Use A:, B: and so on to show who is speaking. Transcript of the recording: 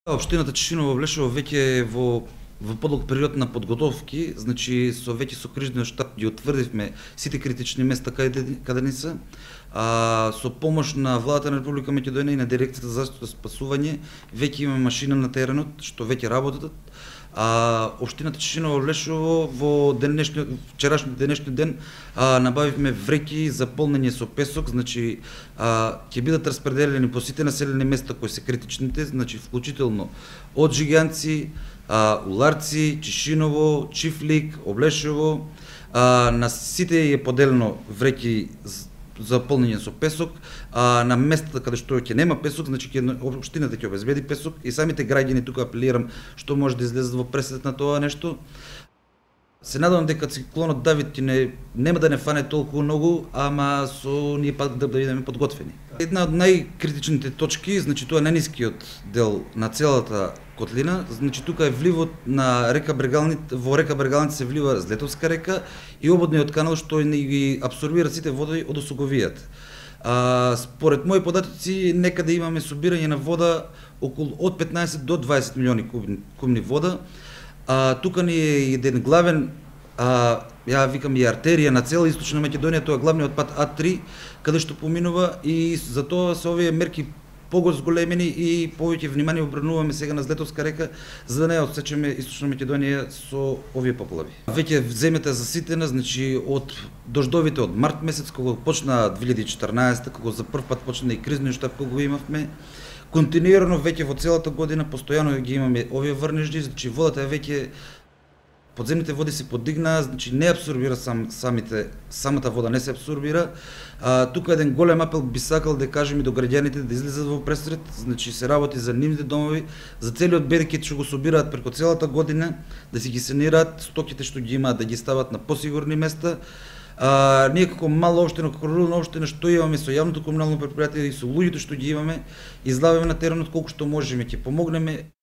A: Општината Чешиново Влешево веќе е во подлог период на подготовки, значи со крижниот штаб ги утврдивме сите критични места каде не се. Со помош на владата на Република Македонија и на дирекцијата за заштита и спасување веќе имаме машина на теренот што веќе работат. Општината Чешиново Влешево во вчерашниот денешниот ден набавивме вреќи за полнење со песок, значи ќе бидат распределени по сите населени места кои се критичните, значи вклучително од Жиганци, Уларци, Чешиново, Чифлик, Облешево, на сите е поделено вреќи за полнење со песок, на местата каде што ќе нема песок, значи општината ќе обезбеди песок и самите граѓани тука апелирам што може да излезат во пресет на тоа нешто. Се надевам дека циклонот Давид нема да не фане толку многу, ама со ние пак да бидеме подготвени. Една од најкритичните точки, значи тоа е најнискиот дел на целата котлина, значи тука е вливот на река Брегалните, во река Брегалните се влива Злетовска река и ободниот канал што ги абсорбира сите води од осоговијата. Според мои податоци некаде имаме собирање на вода околу од 15 до 20 милиони кубни вода. Тука ни е еден главен, ја викам и артерија на цела Источна Македонија, тоа е главниот пат А3, каде што поминува и затоа се овие мерки зголемени и повеќе внимание обрнуваме сега на Злетовска река, за да не отсечеме Источна Македонија со овие поплави. Веќе земјата е заситена, значи од дождовите од март месец, кога почна 2014, кога за прв пат почна и кризниот штаб кога го имавме, континуирано веќе во целата година постојано ги имаме овие врнежди, значи водата е веќе подземните води се подигнаа, значи не абсорбира самата вода не се абсорбира. Тука еден голем апел би сакал да кажем и до граѓаните да излезат во пресрет, значи се работи за нивните домови, за целиот берекет што го собираат преку целата година, да си ги санираат стоките што ги имаат, да ги стават на посигурни места. Ние како мала општина, како рурална општина што имаме со јавното комунално претпријатие и со луѓето што ги имаме, излаваме на теренот колку што можеме, ќе помогнеме.